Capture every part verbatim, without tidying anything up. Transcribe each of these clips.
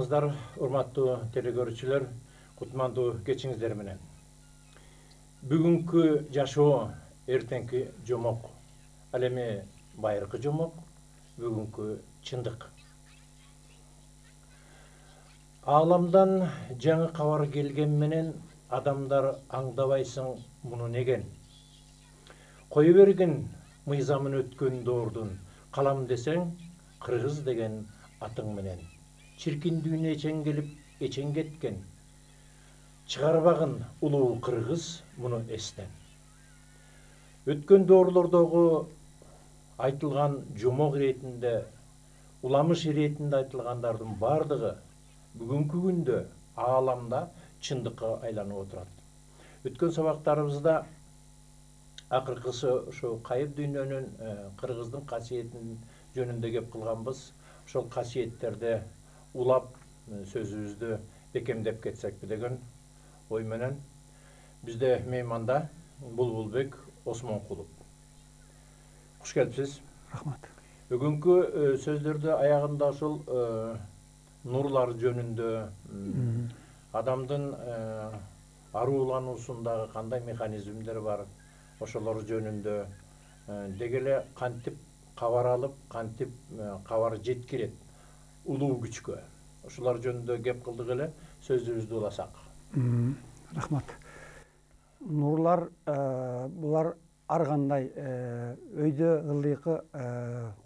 саламатсыңыздар, урматтуу телекөрүүчүлөр, кутмандуу кечиңиздер менен. Бүгүнкү жашоо эртеңки жомок. Ал эми байыркы жомок, бүгүнкү чындык. Ааламдан жаңы кабар келген менен адамдар аңдабайсың муну неген. Кое бергин мыйзамын өткөн доордун, калам десең кыргыз деген атың менен. Чиркин дүйнө эчең келип, эчең кеткен. Чыгарбагын улуу кыргыз муну эстен. Өткөн доорлордогу айтылган жомок иретинде, уламыш иретинде айтылгандардын бардыгы бүгүнкү күндө ааламда чындыкка айланып отурат. Өткөн сабактарыбызда акыркысы ошо кайып дүйнөнүн кыргыздын касиетин жөнүндө кеп кылганбыз. Ошол касиеттерди улап сөзүбүздү бекемдеп кетсекпи деген ой менен бизде мейманда Булбулбек Осмонкулов. Куш келипсиз. Рахмат. Бүгүнкү сөздөрдү аягында ошол нурлар жөнүндө, адамдын аруулануусундагы кандай механизмдер бар, ошолор жөнүндө деги эле кантип кабар алып, кантип кабар жеткирет улуу күчкө. Ошолор жөнүндө кеп кылдык эле, сөзүбүздү уласак. Рахмат. Нурлар булар ар кандай өйдө ылдыйкы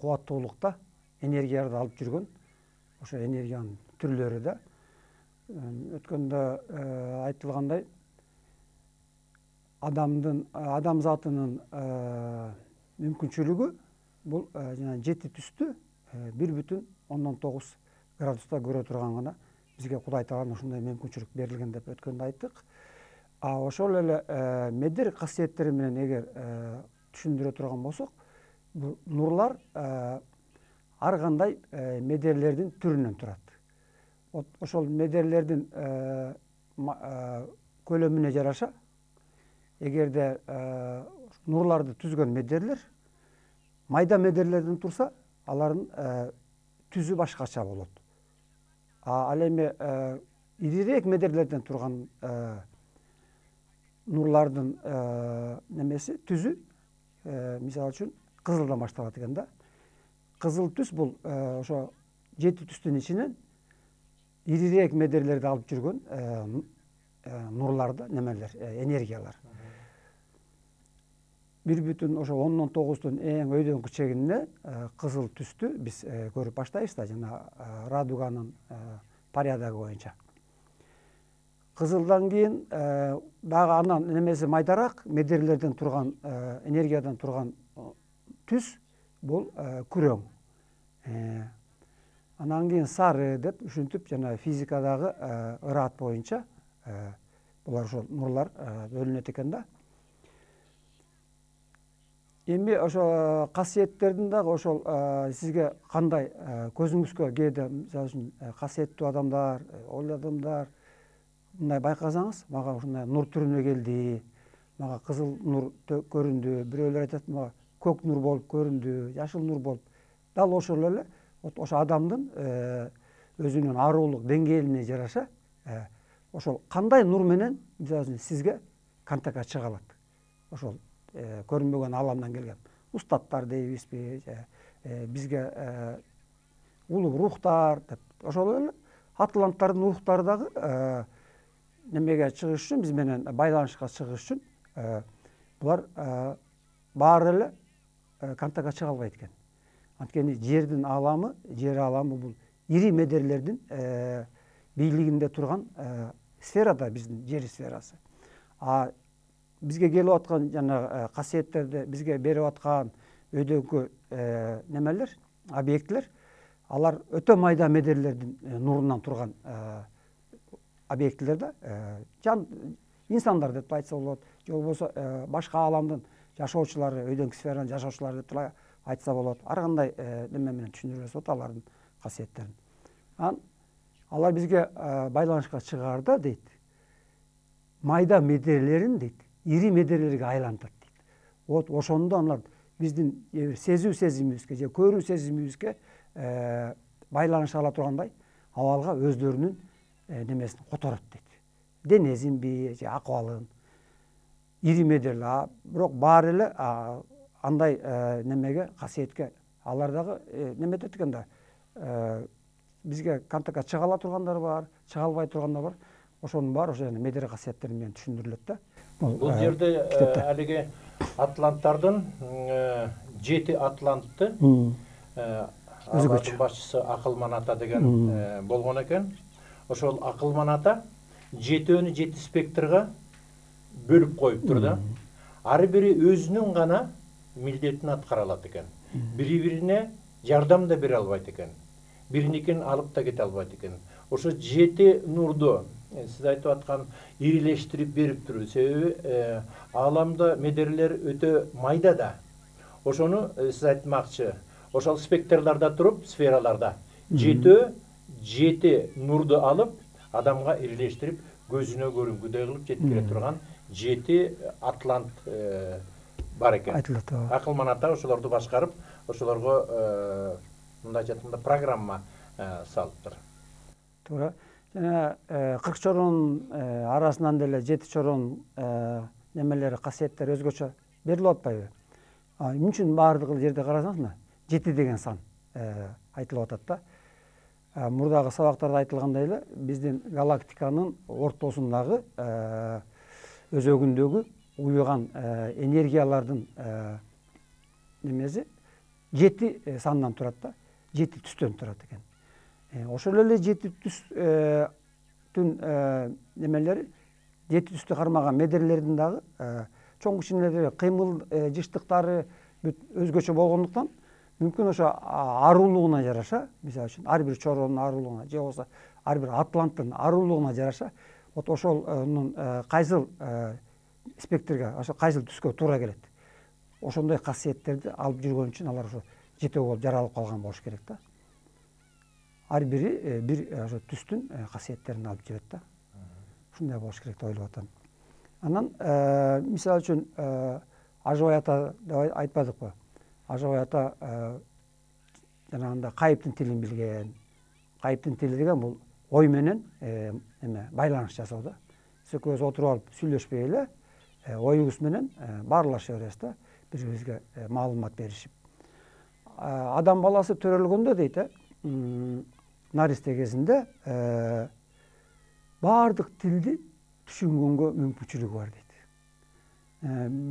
кубаттуулукта энергияларды алып жүргөн. Ошо энергиянын түрлөрү да өткөндө айтылгандай адамдын адамзатынын мүмкүнчүлүгү бул жана жети түстү бир бүтүн ондон тогуз градуста көрө турган гана бизге Кудай Тааланын ушундай мүмкүнчүлүк берилген деп өткөндө айттык. А ошол эле медер касиеттери менен эгер түшүндүрө турган болсок, бул нурлар ар кандай медерлердин түрүнөн турат. Ошол медерлердин көлөмүнө жараша, эгерде нурларды түзгөн медерлер майда медерлерден турса, алардын түзү башкача болот. Ал эми ирирээк медерлерден турган нурлардын немеси түзү, мисалы үчүн кызылдан башталат экен да. Кызыл түс бул ошо жети түстүн ичинен ирирээк медерлерди алып жүргөн нурларды, немелер, энергиялар. бир бүтүн ошо ондон тогуздун эң өйдөңкү чегинде кызыл түстү биз көрүп баштайбыз да, жана радуганын порядогу боюнча. Кызылдан кийин дагы анан немеси майдараак медерлерден турган, энергиядан турган түс бул күрөң. Анан кийин сары деп ушинтип жана физикадагы ыраат боюнча булар ошол нурлар бөлүнөт экен да. Эми ошо касиеттердин дагы ошол сизге кандай көзүңүзгө кээде мисалы үчүн касиеттүү адамдар, ойлуу адамдар мындай байкасаңыз, мага ушундай нур түрүнө келди, мага кызыл нур көрүндү, бирөөлөр айтат мага көк нур болуп көрүндү, жашыл нур болуп. Дал ошол эле ошо адамдын өзүнүн ааруулук деңгээлине жараша ошол кандай нур менен мисалы үчүн сизге контактка чыга алат. Ошол көрүнбөгөн ааламдан келген устаттар дейбизби, бизге улуу рухтар деп. Ошол эле атланттардын рухтары дагы немеге чыгыш үчүн, биз менен байланышка чыгыш үчүн булар баары эле контактка чыга албайт экен. Анткени жердин ааламы, жер ааламы бул ири медерлердин бийлигинде турган сфера да биздин жер сферасы. А бизге келип аткан жана касиеттерди бизге берип аткан өйдөңкү немелер, объектилер, алар өтө майда медерлердин нурунан турган объектилер да, жан инсандар деп айтса болот, же болбосо башка ааламдын жашоочулары, өйдөңкү сферанын жашоочулары деп айтса болот. Ар кандай неме менен түшүндүрүлсө болот алардын касиеттерин. Анан алар бизге байланышка чыгаарда дейт, майда медерлерин дейт, ири медерлерге айлантат дейт. Вот ошондо алар биздин сезүү сезимибизге же көрүү сезимибизге байланыша ала тургандай, абалга өздөрүнүн немесин которот дейт. Денесинби же акыбалын ири медерлер, бирок баары эле андай немеге касиетке алар дагы неме этет экен да, бизге контактка чыга ала тургандар бар, чыга албай тургандар бар. Ошонун баары ошо медер касиеттери менен түшүндүрүлөт да. Бул жерде алиги атланттардын жети атлантты алардын башчысы Акылман ата деген болгон экен. Ошол Акылман ата жетөөнү жети спектрга бөлүп коюптур да. Ар бири өзүнүн гана милдетин аткара алат экен. Бири-бирине жардам да бере албайт экен. Бириникин алып да кете албайт экен. Ошо жети нурду сиз айтып аткан ирилештирип бериптир. Себеби ааламда медерлер өтө майда да. Ошону сиз айтмакчы, ошол спектрларда туруп, сфераларда жетөө жети нурду алып, адамга ирилештирип, көзүнө көрүнгүдөй кылып жеткире турган жети атлант бар экен. Айтылат. Акылман ата ошолорду башкарып, ошолорго мындайча айтканда программа салыптыр. Туура. Жана кырк чоронун арасынан деле жети чоронун немелери, касиеттери өзгөчө берилип атпайбы? Эмне үчүн баардык жерде карасаңыз, жети деген сан айтылып атат да. Мурдагы сабактарда айтылгандай эле, биздин галактиканын ортосундагы өзөгүндөгү уюган энергиялардын немеси жети сандан турат да, жети түстөн турат экен. Ошол эле жети түстүн немелери, жети түстү кармаган медерлердин дагы чоң кичинелери, кыймыл жыштыктары өзгөчө болгондуктан мүмкүн ошо арулугуна жараша, мисалы үчүн ар бир чоронун арулугуна же болбосо ар бир атланттын арулугуна жараша, вот ошонун кайсыл спектрге, ошо кайсыл түскө туура келет. Ошондой касиеттерди алып жүргөн үчүн алар ошо жетөө болуп жаралып калган болуш керек да. Ар бири бир ошо түстүн касиеттерин алып жүрөт да. Ушундай болуш керек деп ойлоп атам. Анан мисалы үчүн Ажыбай ата деп айтпадыкпы? Ажыбай ата жанагындай кайыптын тилин билген. Кайыптын тили деген бул ой менен эме байланыш жасоо да. Биз экөөбүз отуруп алып сүйлөшпөй эле оюбуз менен баарлаша беребиз да, бири-бирибизге маалымат беришип. Адам баласы төрөлгөндө дейт, наристе кезинде баардык тилди түшүнгөнгө мүмкүнчүлүгү бар дейт.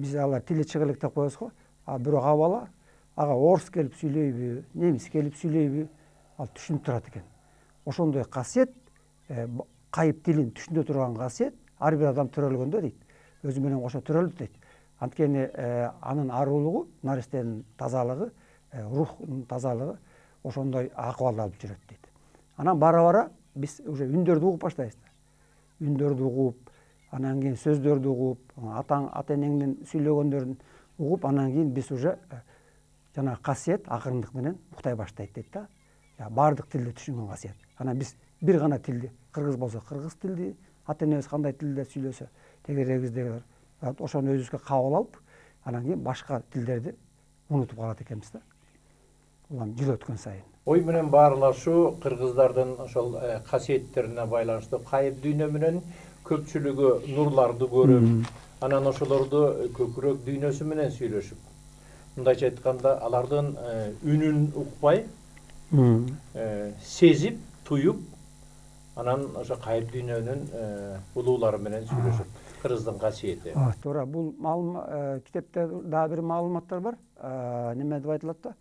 Биз алар тили чыга элек деп коебуз го, а бирок а бала ага орус келип сүйлөйбү, немис келип сүйлөйбү, ал түшүнүп турат экен. Ошондой касиет, кайып тилин түшүнө турган касиет ар бир адам төрөлгөндө дейт, өзү менен кошо төрөлдү дейт. Анткени анын арулугу, наристенин тазалыгы, рухтун тазалыгы ошондой акыбалды алып жүрөт дейт. Анан бара-бара биз уже үндөрдү угуп баштайбыз. Үндөрдү угуп, анан кийин сөздөрдү угуп, атаң, ата-энеңдин сүйлөгөндөрүн угуп, анан кийин биз уже жана касиет акырындык менен уктай баштайт дейт да. Баардык тилди түшүнгөн касиет. Анан биз бир гана тилди, кыргыз болсо кыргыз тилди, ата-энебиз кандай тилде сүйлөсө, тегерегиздегилер ошону өзүбүзгө кабыл алып, анан кийин башка тилдерди унутуп калат экенбиз да. Улам жыл өткөн сайын. Ой менен баарлашуу кыргыздардын ошол касиеттерине байланыштуу. Кайып дүйнө менен көпчүлүгү нурларды көрүп, анан ошолорду көкүрөк дүйнөсү менен сүйлөшүп, мындайча айтканда алардын үнүн укпай, сезип, туюп, анан ошо кайып дүйнөнүн улуулары менен сүйлөшүп, кыргыздын касиети. Туура, бул китепте дагы бир маалыматтар бар. Неме деп айтылат да?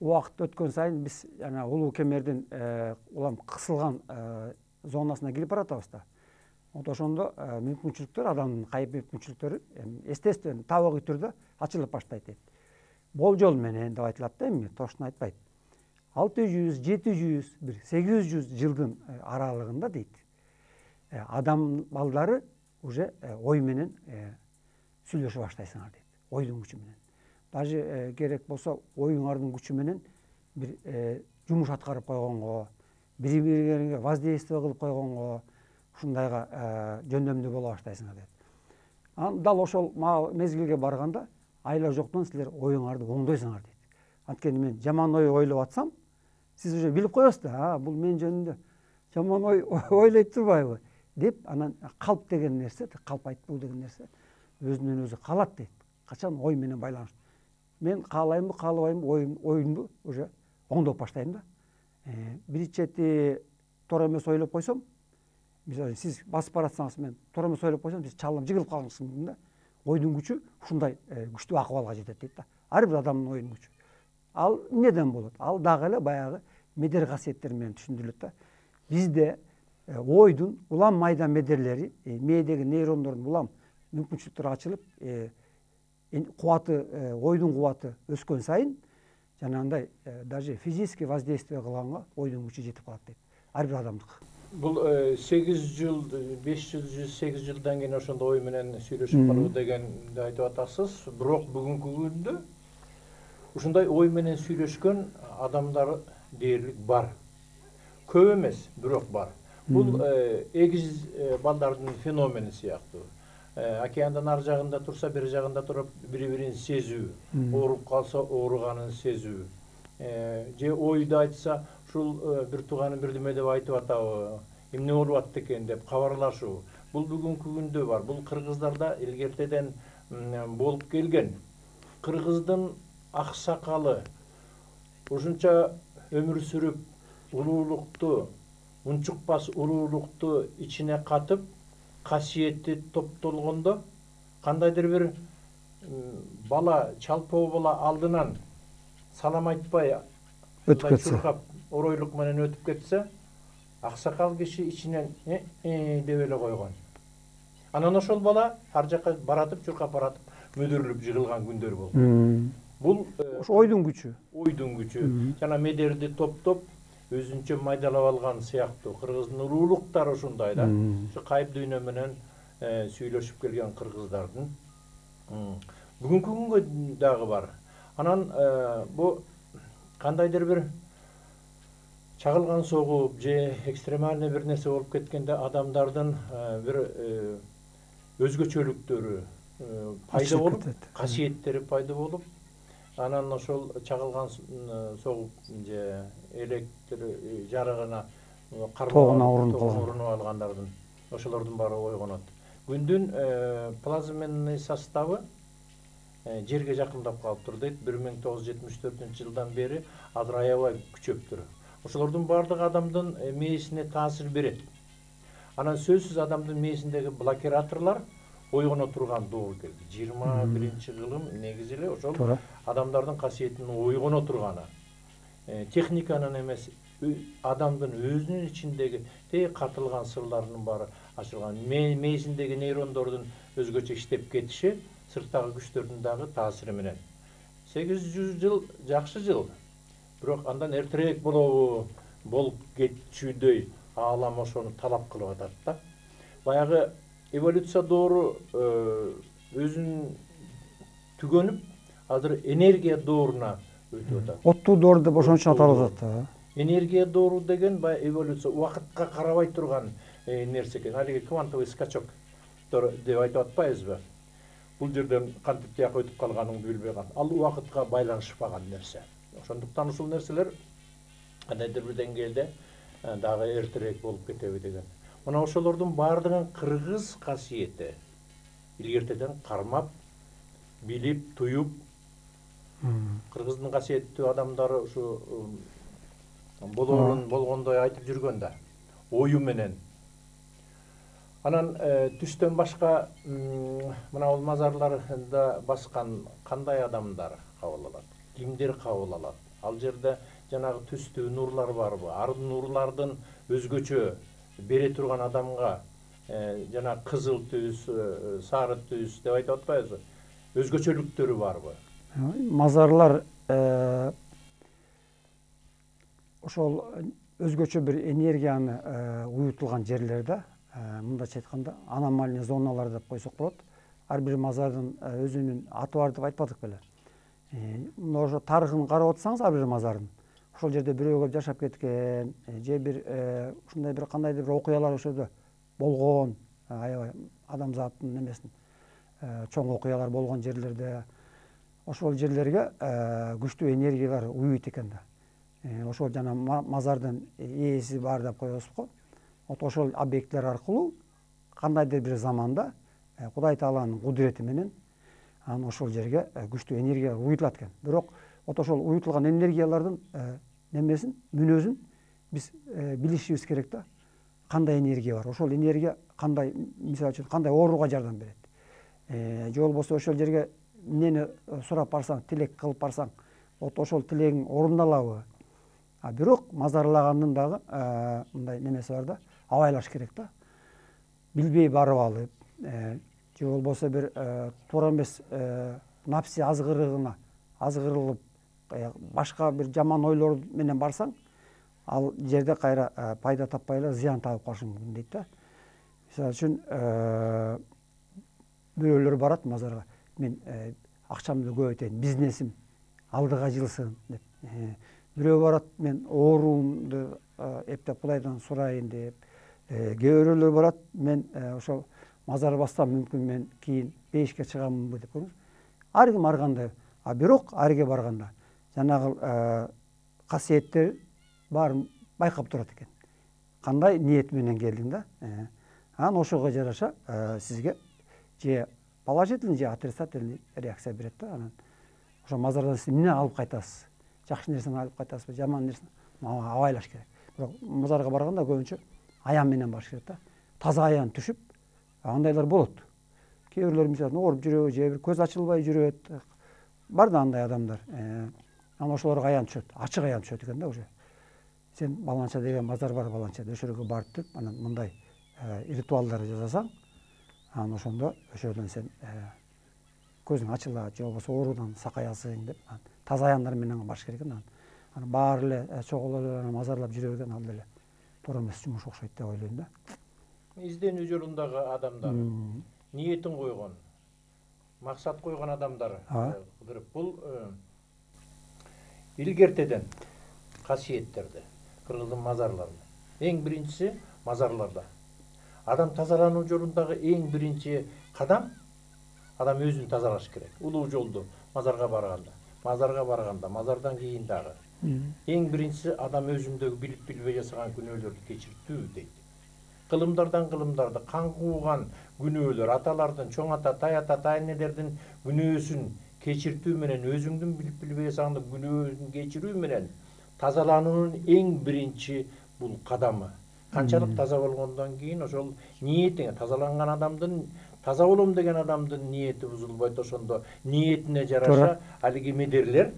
Убакыт өткөн сайын биз жана улуу кемердин улам кысылган зонасына кирип баратабыз да. Вот ошондо мүмкүнчүлүктөр, адамдын кайып мүмкүнчүлүктөрү естественно табигый түрдө ачылып баштайт дейт. Болжол менен деп айтылат да, эми точно айтпайт. алты жүз, жети жүз, бир сегиз жүз жылдын аралыгында дейт. Адам балдары уже ой менен сүйлөшө баштайсыңар дейт. Ойдун күчү менен. Даже керек болсо оюңардын күчү менен бир жумуш аткарып койгонго, бири-бириңерге воздействие кылып койгонго, ушундайга жөндөмдүү боло баштайсыңар дейт. Анан дал ошол мезгилге барганда айла жоктон силер оюңарды оңдойсуңар дейт. Анткени мен жаман ой ойлоп атсам, сиз уже билип коесуз да, бул мен жөнүндө жаман ой ойлойт турбайбы деп, анан калп деген нерсе, калп айтпоо деген нерсе өзүнөн өзү калат дейт. Качан ой менен байланыштуу. Мен каалаймбы, каалабаймбы, оюм оюмду уже оңдоп баштайм да. Бир чети туура эмес ойлоп койсом, мисалы сиз басып баратсаңыз, мен туура эмес ойлоп койсом, сиз чалым жыгылып калышы мүмкүн да. Ойдун күчү ушундай күчтүү акыбалга жетет дейт да. Ар бир адамдын оюнун күчү. Ал эмнеден болот? Ал дагы эле баягы медер касиеттер менен түшүндүрүлөт да. Бизде ойдун улам майда медерлери, мээдеги нейрондордун улам мүмкүнчүлүктөрү ачылып, кубаты, ойдун кубаты өскөн сайын жанагындай даже физический воздействие кылганга ойдун күчү жетип калат дейт. Ар бир адамдыкы. Бул сегиз жыл, беш жүз сегиз жылдан кийин ошондой ой менен сүйлөшүп калуу дегенди айтып атасыз. Бирок бүгүнкү күндө ушундай ой менен сүйлөшкөн адамдар дээрлик бар. Көп эмес, бирок бар. Бул эгиз балдардын феномени сыяктуу. Океандын ар жагында турса, бир жагында туруп, бири-бирин сезүү, ооруп калса ооруганын сезүү. Же ойду айтса, ушул бир тууганы бирдеме деп айтып атабы, эмне болуп атты экен деп кабарлашуу. Бул бүгүнкү күндө бар. Бул кыргыздарда илгертеден болуп келген. Кыргыздын аксакалы ушунча өмүр сүрүп, улуулукту, унчукпас улуулукту ичине катып, касиети топтолгондо кандайдыр бир бала, чалпоо бала алдынан салам айтпай өтүп кетсе, оройлук менен өтүп кетсе, аксакал киши ичинен э деп эле койгон. Анан ошол бала ар жакка баратып, чуркап баратып, мөдөрүлүп жыгылган күндөр болгон. Бул ошо ойдун күчү. Ойдун күчү. Жана медерди топтоп өзүнчө майдалап алган сыяктуу. Кыргыздын улуулуктары ушундай да. Ушу кайып дүйнө менен сүйлөшүп келген кыргыздардын. Бүгүнкү күнгө дагы бар. Анан бу кандайдыр бир чагылган согуп же экстремальный бир нерсе болуп кеткенде адамдардын бир өзгөчөлүктөрү пайда болуп, касиеттери пайда болуп, анан ошол чагылган согуп же электр жарыгына урунуп алгандардын ошолордун баары ойгонот. Күндүн плазменный составы жерге жакындап калыптыр дейт. бир миң тогуз жүз жетимиш төртүнчү жылдан бери азыр аябай күчөптүр. Ошолордун баардыгы адамдын мээсине таасир берет. Анан сөзсүз адамдын мээсиндеги блокираторлор ойгоно турган доор келди. жыйырма биринчи кылым негизи эле ошол адамдардын касиетинин ойгоно турганы. Техниканын эмес, адамдын өзүнүн ичиндеги тээ катылган сырларынын баары ачылган. Мээсиндеги нейрондордун өзгөчө иштеп кетиши сырттагы күчтөрдүн дагы таасири менен. сегиз жүз жыл жакшы жыл. Бирок андан эртерээк болобу, болуп кетчүдөй аалам ошону талап кылып атат да. Баягы эволюция доору өзүн түгөнүп, азыр энергия дооруна өтүп атат. Оттуу доор деп ошон үчүн аталып атат. Энергия доору деген баягы эволюция, убакытка карабай турган нерсе экен. Алиги квантовый скачок деп айтып атпайбызбы? Бул жерден кантип тияка өтүп калганыңды билбей калат. Ал убакытка байланышпаган нерсе. Ошондуктан ушул нерселер кандайдыр бир деңгээлде дагы эртерээк болуп кетеби деген. Мына ошолордун баардыгын кыргыз касиети илгертеден кармап, билип, туюп, кыргыздын касиеттүү адамдары ушу болоорун болгондой айтып жүргөн да, ою менен. Анан түстөн башка мына бул мазарларда баскан кандай адамдар кабыл алат? Кимдер кабыл алат? Ал жерде жанагы түстүү нурлар барбы? Ар нурлардын өзгөчө бере турган адамга жана кызыл түс, сары түс деп айтып атпайбызбы? Өзгөчөлүктөрү барбы? Мазарлар ошол өзгөчө бир энергияны уютулган жерлерде, мындайча айтканда аномальный зоналар деп койсок болот. Ар бир мазардын өзүнүн аты бар деп айтпадык беле. Мына ошо тарыхын карап отсаңыз, ар бир мазардын ошол жерде бирөөгө жашап кеткен, же бир ушундай бир кандайдыр бир окуялар ошодо болгон, аябай адамзаттын эмесин чоң окуялар болгон жерлерде, ошол жерлерге күчтүү энергиялар уйуйт экен да. Ошол жана мазардын ээси бар деп коебузго, вот ошол объекттер аркылуу кандайдыр бир заманда Кудай Тааланын кудурети менен анан ошол жерге күчтүү энергия уютулат экен. Бирок вот ошол уютулган энергиялардын немесин, мүнөзүн биз билишибиз керек да. Кандай энергия бар? Ошол энергия кандай, мисалы үчүн, кандай ооруга жардам берет? Же болбосо ошол жерге эмнени сурап барсаң, тилек кылып барсаң, вот ошол тилегиң орундалабы? А бирок мазарлагандын дагы мындай немеси бар да, абайлаш керек да. Билбей барып алып, же болбосо бир туура эмес напси азгырыгына азгырылып, башка бир жаман ойлор менен барсаң, ал жерде кайра пайда таппай эле зыян табып калышың мүмкүн дейт да. Мисалы үчүн бирөөлөр барат мазарга, мен акчамды көбөйтөйүн, бизнесим алдыга жылсын деп. Бирөө барат, мен ооруумду эптеп Кудайдан сурайын деп. Кээ бирөөлөр барат, мен ошол мазар бассам мүмкүн мен кийин бейишке чыгамынбы деп көрүңүз. Ар ким ар кандай. А бирок арге барганда жанагы касиеттер баарын байкап турат экен. Кандай ниет менен келдиң да? Анан ошого жараша сизге же положительный, же отрицательный реакция берет да. Анан ошо мазардан сиз эмне алып кайтасыз? Жакшы нерсени алып кайтасызбы, жаман нерсени абайлаш керек. Бирок мазарга барганда көбүнчө аян менен барыш керек да. Таза аян түшүп, андайлар болот. Кээ бирлер мисалы ооруп жүрөбү, же бир көз ачылбай жүрөт. Бар да андай адамдар. Анан ошолорго аян түшөт, ачык аян түшөт экен да уже. Сен баланча деген мазар бар, баланча ошол жерге барып деп, анан мындай ритуалдар жасасаң, анан ошондо ошол жерден сен көзүң ачылат, же болбосо оорудан сакаясың деп, таза аяндар менен барыш керек экен. Анан баары эле чогулуп мазарлап жүрө берген ал деле туура эмес жумуш окшойт деп ойлойм да. Изденүү жолундагы адамдар ниетин койгон, максат койгон адамдар, бул илгертеден касиеттерди, кыргыздын мазарларында. Эң биринчиси мазарларда. Адам тазалануу жолундагы эң биринчи кадам адам өзүн тазалаш керек. Улуу жолду мазарга барганда, мазарга барганда, мазардан кийин дагы. Эң биринчиси адам өзүндөгү билип билбей жасаган күнөөлөрдү кечиртүү дейт. Кылымдардан кылымдарды, кан кууган күнөөлөр, аталардын, чоң ата, тай ата, тай энелердин күнөөсүн кечиртүү менен, өзүңдүн билип билбей жасаган күнөөсүн кечирүү менен тазалануунун эң биринчи бул кадамы. Канчалык таза болгондон кийин ошол ниетиңе, тазаланган адамдын, таза болом деген адамдын ниети бузулбайт, ошондо ниетине жараша алиги медерлер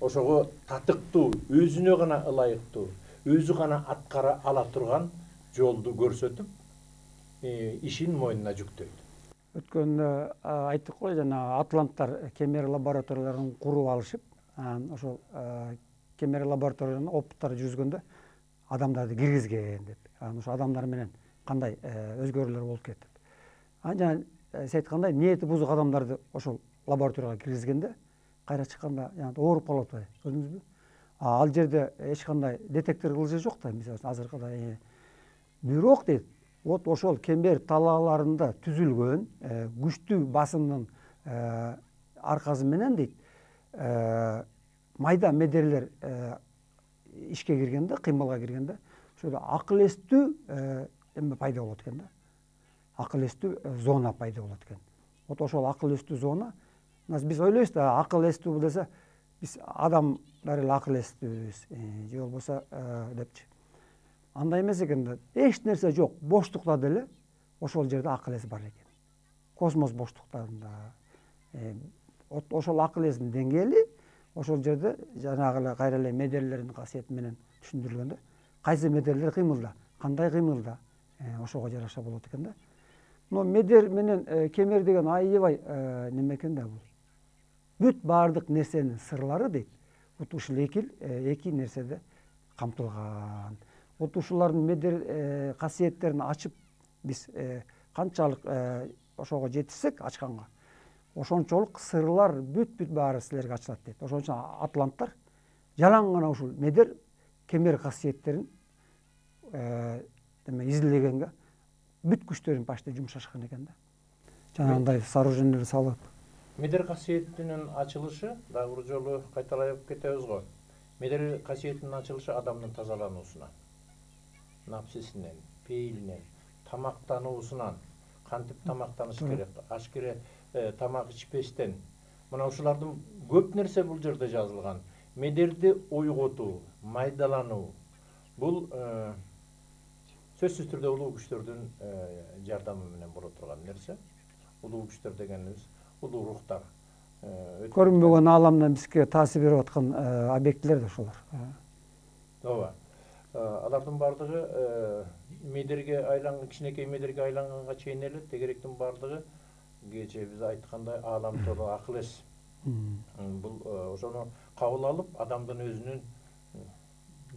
ошого татыктуу, өзүнө гана ылайыктуу, өзү гана аткара ала турган жолду көрсөтүп, ишин мойнуна жүктөйт. Өткөндө айттык го, жана атланттар кемер лабораторияларын куруп алышып, анан ошол кемер лабораторияларына опыттар жүргүзгөндө адамдарды киргизген деп. Анан ошо адамдар менен кандай өзгөрүүлөр болуп кетти. Анан жана сиз айткандай ниети бузук адамдарды ошол лабораторияга киргизгенде кайра чыкканда жана ооруп калып атпайбы, көрдүңүзбү? Ал жерде эч кандай детектор кылышы жок да, мисалы азыркыдай. Бирок дейт, вот ошол кемер талааларында түзүлгөн күчтүү басымдын аркасы менен дейт, майда медерлер ишке киргенде, кыймылга киргенде, ошол акыл эстүү эме пайда болот экен да. Акыл эстүү зона пайда болот экен. Вот ошол акыл эстүү зона, биз ойлойбуз да, акыл эстүү десе, биз адамдар эле акыл эстүүбүз, же болбосо депчи. Андай эмес экен да, эч нерсе жок, боштукта деле ошол жерде акыл эс бар экен. Космос боштуктарында. Ошол акыл эстин деңгээли ошол жерде жанагы эле кайра эле медерлердин касиети менен түшүндүрүлгөндө, кайсы медерлер кыймылда, кандай кыймылда, ошого жараша болот экен да. Но медер менен кемер деген аябай неме экен да бул. Бүт баардык нерсенин сырлары дейт, вот ушул эки эки нерседе камтылган. Вот ушулардын медер касиеттерин ачып биз канчалык ошого жетишсек ачканга, ошончолук сырлар бүт-бүт баары силерге ачылат дейт. Ошон үчүн атланттар жалаң гана ушул медер кемер касиеттерин эме изилдегенге бүт күчтөрүн почти жумшашкан экен да. Жанагындай сооружениелер салып. Медер касиетинин ачылышы, дагы бир жолу кайталап кетебиз го. Медер касиетинин ачылышы адамдын тазалануусуна. напсисинен, пейилинен, тамактануусунан кантип тамактаныш керек, аш керек, тамак ичпестен. Мына ушулардын көп нерсе бул жерде жазылган. Медерди ойготуу, майдалануу. Бул сөзсүз түрдө улуу күчтөрдүн жардамы менен боло турган нерсе. Улуу күчтөр дегенибиз улуу рухтар. Көрүнбөгөн ааламдан бизге таасир берип аткан объектилер да ошолор. Ооба. Алардын бардыгы медерге айланган, кичинекей медерге айланганга чейин эле тегеректин бардыгы кечээ биз айткандай аалам толо акыл эс. Бул ошону кабыл алып, адамдын өзүнүн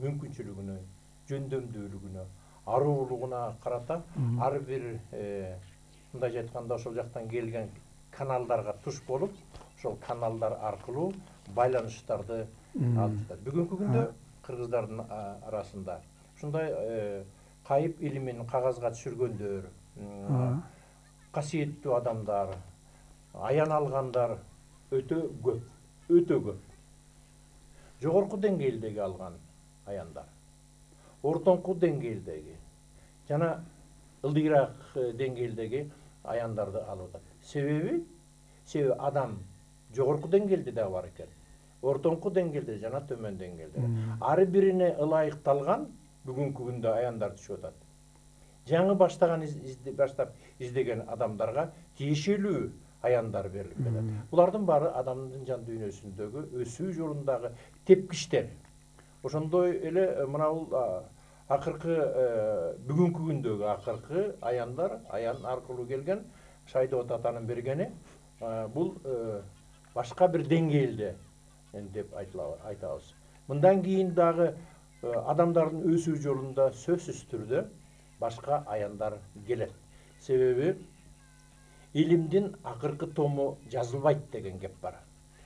мүмкүнчүлүгүнө, жөндөмдүүлүгүнө, аруулугуна карата ар бир мындайча айтканда ошол жактан келген каналдарга туш болуп, ошол каналдар аркылуу байланыштарды алып жатат. Бүгүнкү күндө кыргыздардын арасында ушундай кайып илимин кагазга түшүргөндөр, касиеттүү адамдар, аян алгандар өтө көп, өтө көп. Жогорку деңгээлдеги алган аяндар, ортоңку деңгээлдеги жана ылдыйраак деңгээлдеги аяндарды алып атат. Себеби, себеби адам жогорку деңгээлде да бар экен. Ортоңку деңгээлде жана төмөн деңгээлде. Ар бирине ылайыкталган бүгүнкү күндө аяндар түшүп атат. Жаңы баштаган баштап издеген адамдарга тиешелүү аяндар берилип келет. Булардын баары адамдын жан дүйнөсүндөгү өсүү жолундагы тепкичтер. Ошондой эле мына бул акыркы бүгүнкү күндөгү акыркы аяндар, аян аркылуу келген Шайдыбат атанын бергени бул башка бир деңгээлде деп айтабыз. Мындан кийин дагы адамдардын өсүү жолунда сөзсүз түрдө башка аяндар келет. Себеби илимдин акыркы тому жазылбайт деген кеп бар.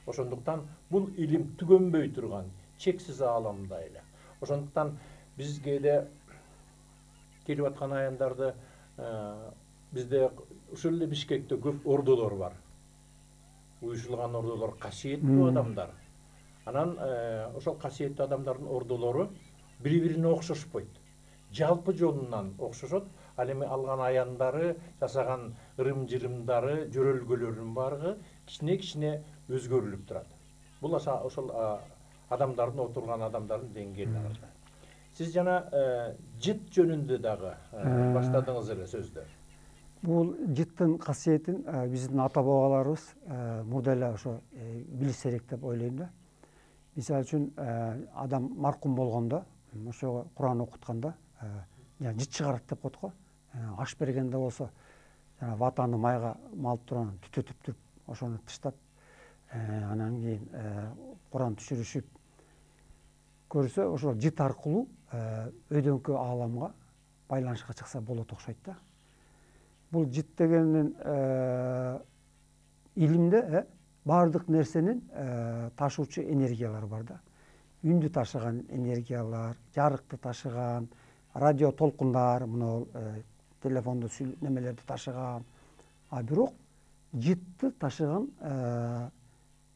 Ошондуктан бул илим түгөнбөй турган чексиз ааламда эле. Ошондуктан биз кээде келип аткан аяндарды бизде ушул эле Бишкекте көп ордолор бар. Уюшулган ордолор, касиеттүү адамдар. Анан ошол касиеттүү адамдардын ордолору бири-бирине окшошпойт. Жалпы жолунан окшошот. Ал эми алган аяндары, жасаган ырым-жырымдары, жөрөлгөлөрүнүн баары кичине-кичине өзгөрүлүп турат. Бул ошол адамдардын, отурган адамдардын деңгээлине карата. Сиз жана жыт жөнүндө дагы баштадыңыз эле сөздү. Бул жыттын касиетин биздин ата бабаларыбыз мурда эле ошо билишсерек деп ойлойм да. Мисалы үчүн адам маркум болгондо, ошого Куран окутканда жыт чыгарат деп коет го. Аш бергенде болсо, жана ватаны майга малып турган түтөтүп туруп, ошону тыштап, анан кийин Куран түшүрүшүп көрсө, ошол жыт аркылуу өйдөңкү ааламга байланышка чыкса болот окшойт да. Бул жыт дегенин илимде баардык нерсенин ташуучу энергиялары бар да. Үндү ташыган энергиялар, жарыкты ташыган, радио толкундар, мына телефондо немелерди ташыган. А бирок жытты ташыган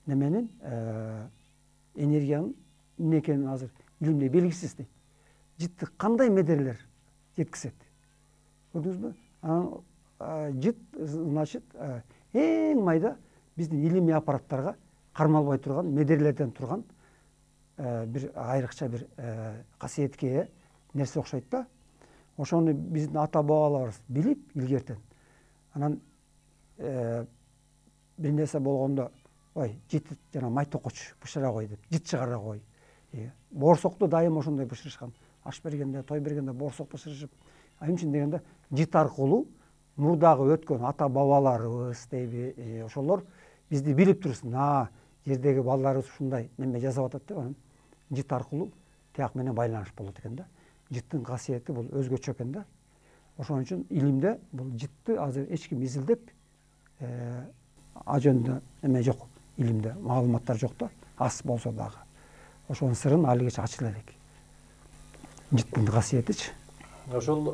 неменин энергиянын эмне экени азыр илимде белгисиз дейт. Жытты кандай медерлер жеткизет? Көрдүңүзбү? Анан жыт, значит, эң майда биздин илимий аппараттарга кармалбай турган, медерлерден турган бир айрыкча бир касиетке ээ нерсе окшойт да. Ошону биздин ата бабаларыбыз билип илгертен. Анан бир нерсе болгондо, ой, жыт жана май токоч бышыра кой деп, жыт чыгара кой. Боорсокту дайыма ошондой бышырышкан. Аш бергенде, той бергенде боорсок бышырышып, эмне үчүн дегенде, жыт аркылуу мурдагы өткөн ата бабаларыбыз дейби, ошолор бизди билип турсын. А, жердеги балдарыбыз ушундай неме жасап атат деп, анан жыт аркылуу тияк менен байланыш болот экен да. Жыттын касиети бул өзгөчө экен да. Ошон үчүн илимде бул жытты азыр эч ким изилдеп а жөнүндө эме жок, илимде маалыматтар жок да, аз болсо дагы. Ошонун сырын али кеч ачыла элек. Жыттын касиетичи. Ошол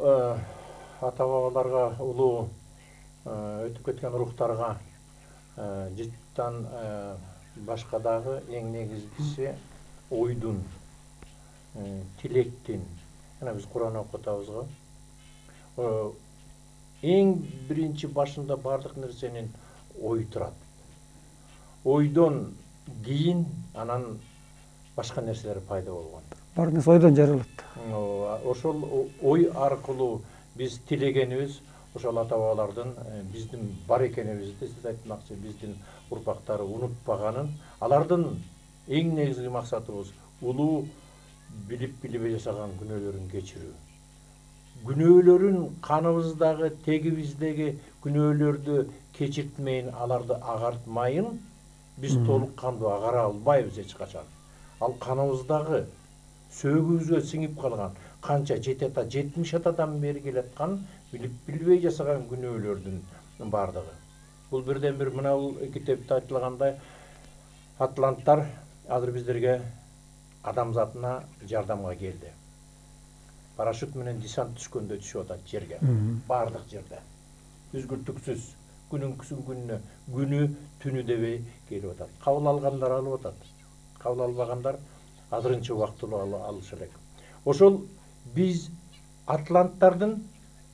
ата бабаларга, улуу өтүп кеткен рухтарга жыттан башка дагы эң негизгиси ойдун, тилектин, Ана биз Куран окуп атабыз го. Эң биринчи башында бардык нерсенин ой турат. Ойдон кийин анан башка нерселер пайда болгон. Бар нерсе ойдон жаралат. Ошол ой аркылуу биз тилегенибиз ошол ата бабалардын биздин бар экенибизди сиз айтмакчы, биздин урпактары унутпаганын, алардын эң негизги максатыбыз улуу билип билбей жасаган күнөөлөрүн кечирүү. Күнөөлөрүн каныбыздагы, тегибиздеги күнөөлөрдү кечиртмейин, аларды агартмайын, биз толук кандуу агара албайбыз эч качан. Ал каныбыздагы сөөгүбүзгө сиңип калган, канча жети ата, жетимиш атадан бери келаткан билип билбей жасаган күнөөлөрдүн бардыгы. Бул бирден бир мына бул китепте айтылгандай атланттар азыр биздерге адамзатына жардамга келди. Парашют менен десант түшкөндөй түшүп атат жерге. Бардык жерде. Үзгүлтүксүз күнүнкүсүн күнүнө, күнү түнү дебей келип атат. Кабыл алгандар алып атат. Кабыл албагандар азырынча убактылуу алышы элек. Ошол биз атланттардын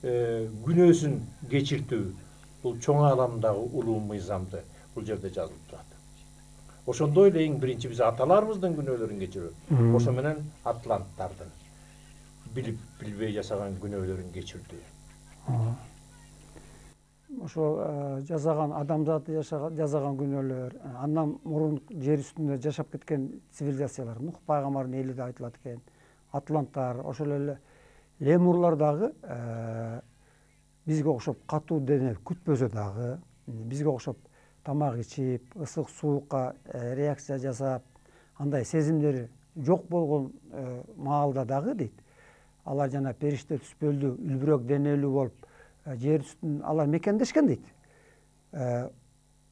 күнөөсүн кечиртүү, бул чоң ааламдагы улуу мыйзамды бул жерде жазылып турат. Ошондой эле эң биринчи биз аталарыбыздын күнөөлөрүн кечирүү, ошо менен атланттардын билип билбей жасаган күнөөлөрүн кечирдүү. Ошо жасаган адамзаты жасаган күнөөлөр, андан мурун жер үстүндө жашап кеткен цивилизациялар, Нух пайгамбардын эли деп айтылат экен, атланттар, ошол эле лемурлар дагы бизге окшоп катуу дене күтпөсө дагы, бизге окшоп тамак ичип, ысык суукка реакция жасап, андай сезимдери жок болгон маалда дагы дейт. Алар жана периште түспөлдүү, үлбүрөк денелүү болуп, жер үстүн алар мекендешкен дейт.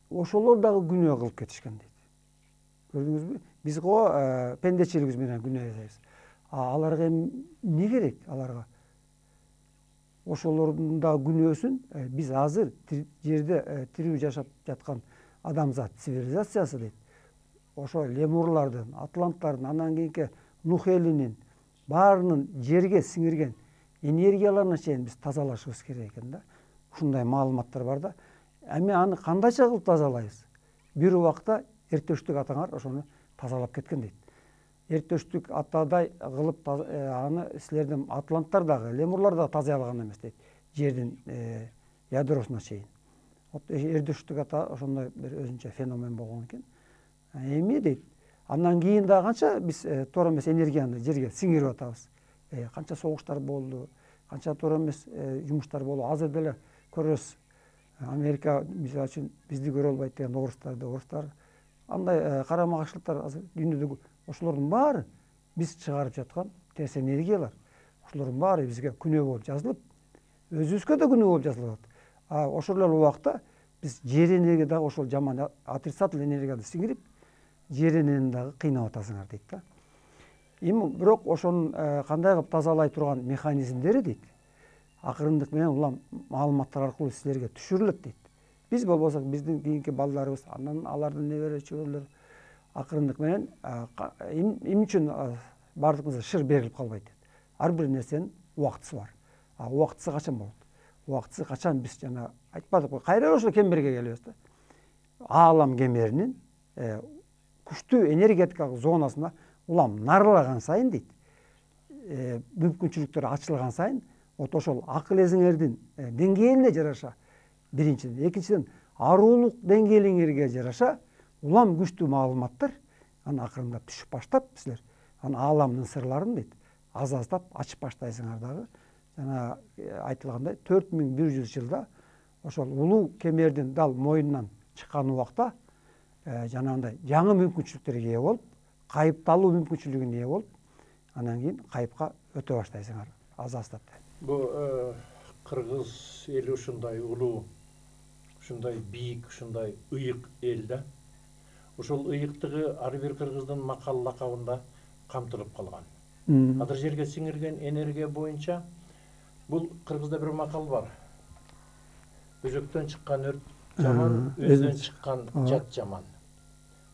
Ошолор дагы күнөө кылып кетишкен дейт. Көрдүңүзбү? Биз го пендечилигибиз менен күнөө жасайбыз. Аларга эмне керек аларга? Ошолордун да күнөөсүн биз азыр жерде тирүү жашап жаткан адамзат цивилизациясы дейт. Ошо лемурлардын, атланттардын, андан кийинки Нух элинин баарынын жерге сиңирген энергияларына чейин биз тазалашыбыз керек экен да. Ушундай маалыматтар бар да. Эми аны кандайча кылып тазалайбыз? Бир убакта эртештик атаңар ошону тазалап кеткен дейт. Эртештик атадай кылып аны силердин атланттар дагы, лемурлар дагы тазалай алган эмес дейт. Жердин ядросуна чейин. Эртештик ата ошондой бир өзүнчө феномен болгон экен. Эми дейт, андан кийин дагы канча биз туура эмес энергияны жерге сиңирип атабыз. Канча согуштар болду, канча туура эмес жумуштар болду. Азыр деле көрөбүз. Америка мисалы үчүн бизди көрө албайт деген орустарды, орустар андай карама каршылыктар азыр дүйнөдөгү ошолордун баары биз чыгарып жаткан терс энергиялар. Ошолордун баары бизге күнөө болуп жазылып, өзүбүзгө да күнөө болуп жазылып атат. А ошол эле убакта биз жер энергия дагы ошол жаман отрицательный энергияны сиңирип, жер энергияны дагы кыйнап атасыңар дейт да. Эми бирок ошонун кандай кылып тазалай турган механизмдери дейт. Акырындык менен улам маалыматтар аркылуу силерге түшүрүлөт дейт. Биз болбосок биздин кийинки балдарыбыз, андан алардын небере чөбүрөлөрү акырындык менен эмне үчүн бардыгыбызга шыр берилип калбайт дейт. Ар бир нерсенин убактысы бар. А убактысы качан болот? Убактысы качан биз жана айтпадыкпы, кайра ошо кемерге келебиз да. Аалам кемеринин күчтүү энергетикалык зонасына улам нарылаган сайын дейт, мүмкүнчүлүктөр ачылган сайын, вот ошол акыл эзиңердин деңгээлине жараша, биринчиден, экинчиден аруулук деңгээлиңерге жараша улам күчтүү маалыматтар аны акырындап түшүп баштап силер аны ааламдын сырларын дейт аз-аздап ачып баштайсыңар дагы. Жана айтылгандай төрт миң бир жүз жылда ошол улуу кемердин дал мойнунан чыккан убакта жанагындай жаңы мүмкүнчүлүктөргө ээ болуп, кайыпталуу мүмкүнчүлүгүнө ээ болуп, анан кийин кайыпка өтө баштайсыңар аз-аздап. Бул кыргыз эли ушундай улуу, ушундай бийик, ушундай ыйык эл да. Ошол ыйыктыгы ар бир кыргыздын макал лакабында камтылып калган. Азыр жерге сиңирген энергия боюнча бул кыргызда бир макал бар. Өзөктөн чыккан өрт жаман, өздөн чыккан жат жаман.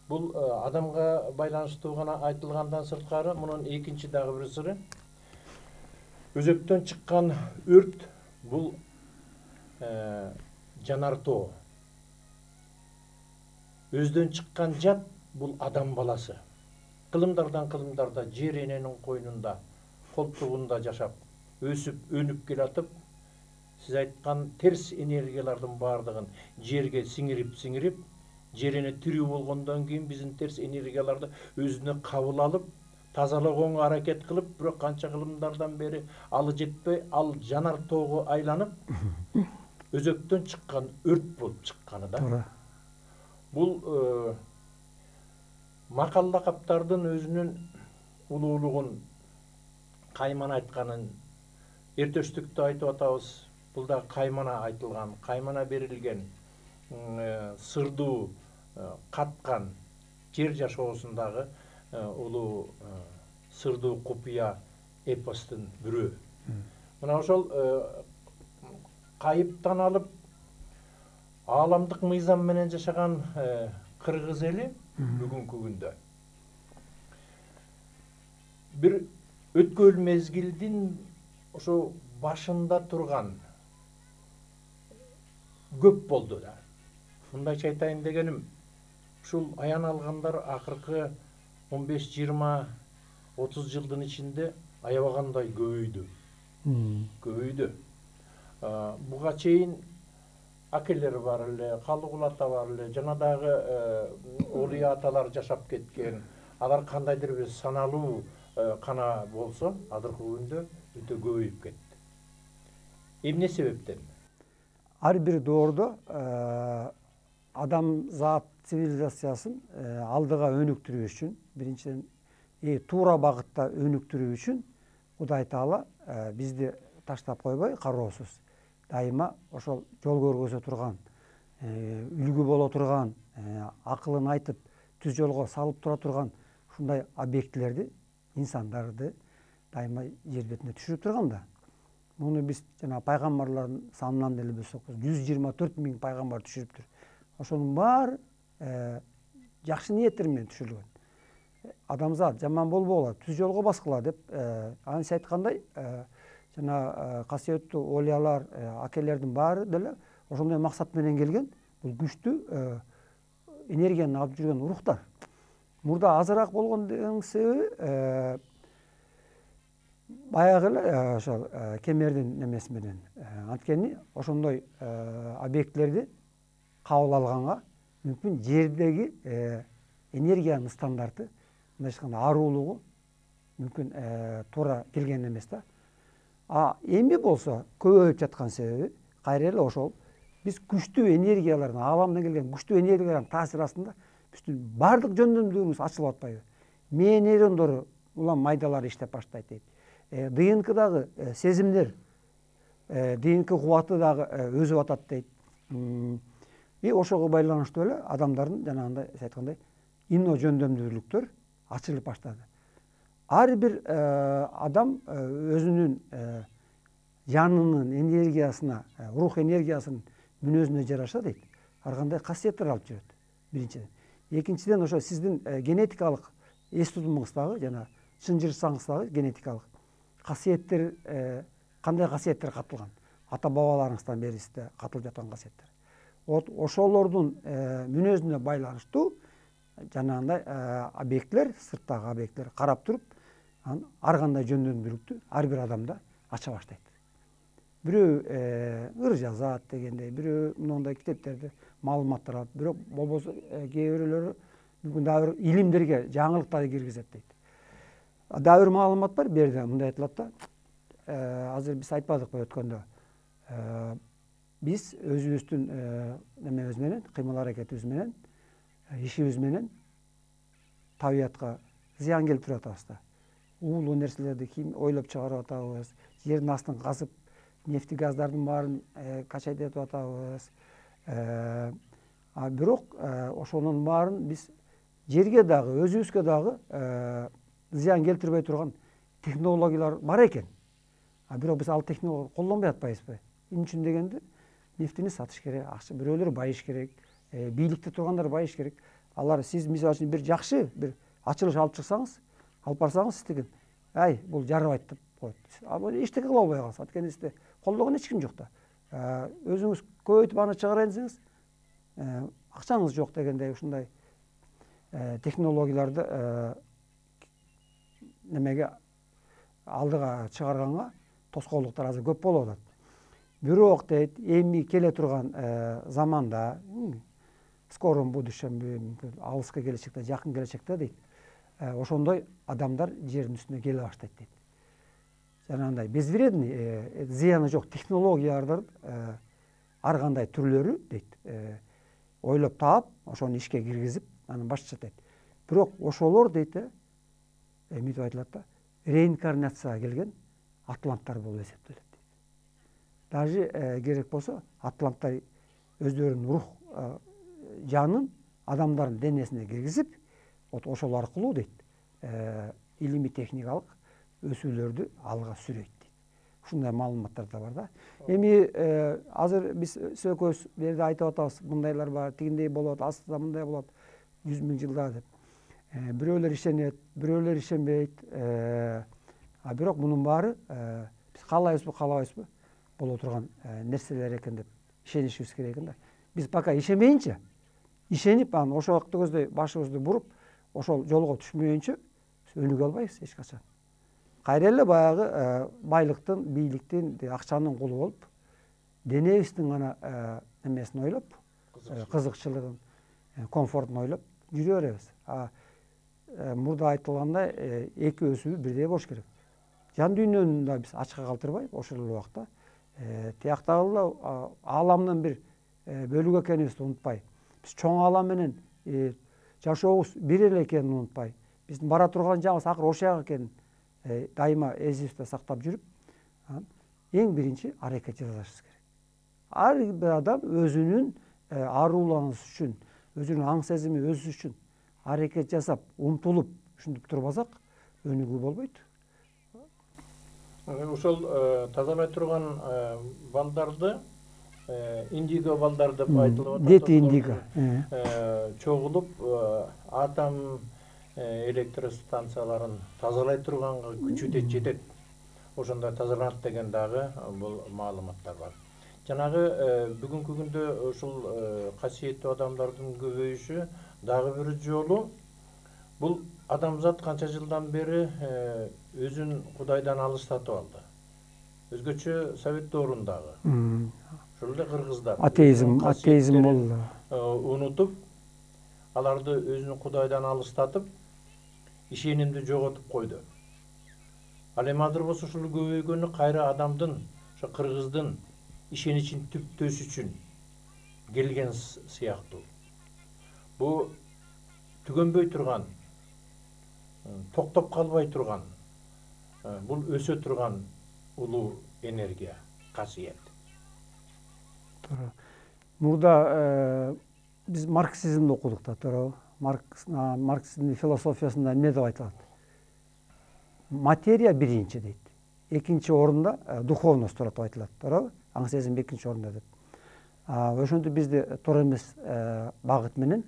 Бул адамга байланыштуу гана айтылгандан сырткары мунун экинчи дагы бир сыры. Өзөктөн чыккан өрт бул жанар тоо. Өздөн чыккан жат бул адам баласы. Кылымдардан кылымдарда жер эненин койнунда, колтугунда жашап, өсүп, өнүп келатып, сиз айткан терс энергиялардын баардыгын жерге сиңирип, сиңирип, жер эне тирүү болгондон кийин биздин терс энергияларды өзүнө кабыл алып, тазалагонго аракет кылып, бирок канча кылымдардан бери алы жетпей, ал жанар тоого айланып, өзөктөн чыккан өрт болуп чыкканы да. Туура. Бул макал лакаптардын өзүнүн улуулугун, каймана айтканын эртештүктө айтып атабыз. Бул да каймана айтылган, каймана берилген, сырдуу каткан жер жашоосундагы улуу сырдуу купуя эпостун бирөө. Мына ошол кайыптан алып ааламдык мыйзам менен жашаган кыргыз эли бүгүнкү күндө бир өткөн мезгилдин ошо башында турган көп болду да. Мындайча айтайын дегеним, ушул аян алгандар акыркы он беш, жыйырма, отуз жылдын ичинде аябагандай көбөйдү. Көбөйдү. Буга чейин акелер бар эле, Калыгул ата бар эле, жана дагы олия аталар жашап кеткен. Алар кандайдыр бир саналуу кана болсо, азыркы күндө өтө көбөйүп кетти. Эмне себептен? Ар бир доордо адамзат цивилизациясын алдыга өнүктүрүү үчүн, биринчиден туура багытта өнүктүрүү үчүн Кудай Таала бизди таштап койбой, кароосуз дайыма ошол жол көргөзө турган, үлгү боло турган, акылын айтып түз жолго салып тура турган ушундай объектилерди, инсандарды дайыма жер бетине түшүрүп турган да. Муну биз жана пайгамбарлардын санынан деле бөлсөк, жүз жыйырма төрт миң пайгамбар түшүрүптүр. Ошонун баары жакшы ниеттер менен түшүрүлгөн. Адамзат жаман болбогула, түз жолго баскыла деп, анын сиз айткандай, жана касиеттүү олиялар, акелердин баары деле ошондой максат менен келген. Бул күчтүү энергияны алып жүргөн урухтар. Мурда азыраак болгондугунун себеби баягы эле ошол кемердин немеси менен, анткени ошондой объектилерди кабыл алганга мүмкүн жердеги энергиянын стандарты, мындай айтканда аарулугу мүмкүн туура келген эмес да. А эми болсо көбөйүп жаткан себеби кайра эле ошол биз күчтүү энергиялардын, ааламдан келген күчтүү энергиялардын таасири астында биздин баардык жөндөмдүүбүз ачылып атпайбы? Мээ нейрондору улам майдалар иштеп баштайт дейт. ДНКдагы сезимдер, ДНК кубаты дагы өзүп атат дейт. И ошого байланыштуу эле адамдардын жанагындай сиз айткандай инно жөндөмдүүлүктөр ачылып баштады. Ар бир адам өзүнүн жанынын энергиясына, рух энергиясынын мүнөзүнө жараша дейт, ар кандай касиеттер алып жүрөт. Биринчиден. Экинчиден, ошо сиздин генетикалык эс тутумуңуздагы жана чынжырсаңыздагы генетикалык касиеттер, кандай касиеттер катылган? Ата бабаларыңыздан бери сизде катылып жаткан касиеттер. Вот ошолордун мүнөзүнө байланыштуу жанагындай объектилер, сырттагы объектилер карап туруп, ар кандай жөндөмдүүлүктү ар бир адамда ача баштайт. Бирөө ыр жазат дегендей, бирөө мындай китептерди маалыматтар алат, бирок болбосо кээ бирөөлөрү мүмкүн дагы бир илимдерге, жаңылыктарды киргизет дейт. Дагы бир маалымат бар, бу жерде мындай айтылат да. Азыр биз айтпадыкпы өткөндө. Биз өзүбүздүн немебиз менен, кыймыл аракетибиз менен, ишибиз менен табиятка зыян келтирип атабыз да. Уулуу нерселерди ким ойлоп чыгарып атабыз, жердин астын казып, нефти газдардын баарын качайт этип атабыз. А бирок ошонун баарын биз жерге дагы, өзүбүзгө дагы зыян келтирбей турган технологиялар бар экен. А бирок биз ал технологияны колдонбой атпайбызбы? Эмне үчүн дегенде, нефтини сатыш керек, акча бирөөлөр байыш керек, бийликте тургандар байыш керек. Алар сиз мисалы үчүн бир жакшы бир ачылыш алып чыксаңыз, алып барсаңыз, сиз деген, ай, бул жарабайт деп коет. Ал эчтеке кыла албай калса, анткени сизде колдогон эч ким жок да. Өзүңүз көбөйтүп аны чыгара элсеңиз, акчаңыз жок дегендей ушундай технологияларды немеге алдыга чыгарганга тоскоолдуктар азыр көп болуп атат. Бирок дейт, эми келе турган заманда, скором будущемде, мүмкүн алыска келечекте, жакын келечекте дейт, ошондой адамдар жердин үстүнө келе баштайт дейт. Жанагындай безвредный, зыяны жок технологиялардын ар кандай түрлөрү дейт, ойлоп таап, ошону ишке киргизип, анан башташат дейт. Бирок ошолор дейт, эмитип айтылат да, реинкарнацияга келген атланттар болуп эсептелет. Даже керек болсо, атланттар өздөрүнүн рух жанын адамдардын денесине киргизип, ошол аркылуу дейт, илимий техникалык өсүүлөрдү алга сүрөйт дейт. Ушундай маалыматтар да бар да. Эми азыр биз экөөбүз берде айтып атабыз, мындайлар бар, тигиндей болот, астыда мындай болот, жүз миң жылда деп. Бирөөлөр ишенет, бирөөлөр ишенбейт. А бирок мунун баары биз каалайбызбы, каалабайбызбы, боло турган нерселер экен деп ишенишибиз керек экен да. Биз пока ишенбейинче, ишенип, анан ошол вакытта көздөй башыбызды буруп, ошол жолго түшмөйүнчө өнүгө албайбыз эч качан. Кайра эле баягы байлыктын, бийликтин, акчанын кулу болуп, денебиздин гана немесин ойлоп, кызыкчылыгын, комфортун ойлоп жүрө беребиз. Мурда айтылгандай, эки өсүү бирдей болуш керек. Жан дүйнөнү да биз ачка калтырбай, ошол эле убакта тияктагы ааламдын бир бөлүгү экенибизди унутпай, биз чоң аалам менен жашообуз бир эле экенин унутпай, биздин бара турган жагыбыз акыры ошол жак экенин дайыма эсибизде сактап жүрүп, эң биринчи аракет жасашыбыз керек. Ар бир адам өзүнүн ааруланысы үчүн, өзүнүн аң сезими өсүш үчүн аракет жасап, умтулуп, ушинтип турбасак, өнүгүү болбойт. Ошол тазалай турган балдарды индиго балдар деп айтылып атат. Дети индиго. Чогулуп атом электростанцияларын тазалай турганга күчү да жетет. Ошондой тазаланат деген дагы бул маалыматтар бар. Жанагы бүгүнкү күндө ушул касиеттүү адамдардын көбөйүшү дагы бир жолу бул адамзат канча жылдан бери өзүн Кудайдан алыстатып алды. Өзгөчө Совет доорундагы. Ошол эле кыргыздар. Атеизм, атеизм болду. Унутуп, аларды өзүнүн Кудайдан алыстатып, ишенимди жоготуп койду. Ал эми азыр болсо ушул көбөйгөнү кайра адамдын, ошо кыргыздын ишеничин түптөш үчүн келген сыяктуу. Бу түгөнбөй турган, токтоп калбай турган, бул өсө турган улуу энергия, касиет. Мурда биз марксизмди окудук да, туурабы? Марксизмдин философиясында эмне деп айтылат? Материя биринчи дейт. Экинчи орунда духовность турат деп айтылат, туурабы? Аң сезим экинчи орунда деп. Ошентип бизди туура эмес багыт менен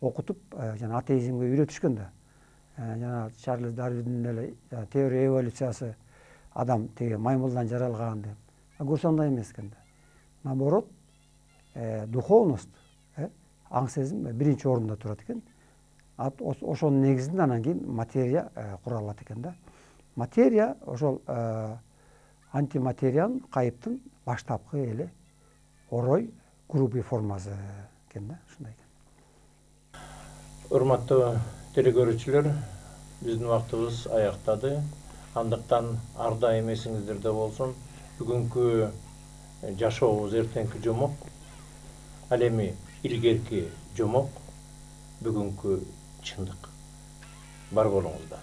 окутуп, жана атеизмге үйрөтүшкөн да. Жана Чарльз Дарвиндин эле теория эволюциясы, адам теги маймылдан жаралган деп. Көрсө андай эмес экен да. Наоборот, духовность, аң сезим биринчи орунда турат экен. Ошонун негизинде анан кийин материя куралат экен да. Материя ошол антиматериянын, кайыптын баштапкы эле орой грубый формасы экен да, ушундай экен. Урматтуу телекөрүүчүлөр, биздин убактыбыз аяктады. Андыктан ар дайым эсиңиздерде болсун, бүгүнкү жашообуз эртеңки жомок, ал эми илгерки жомок, бүгүнкү чындык. Бар болуңуздар.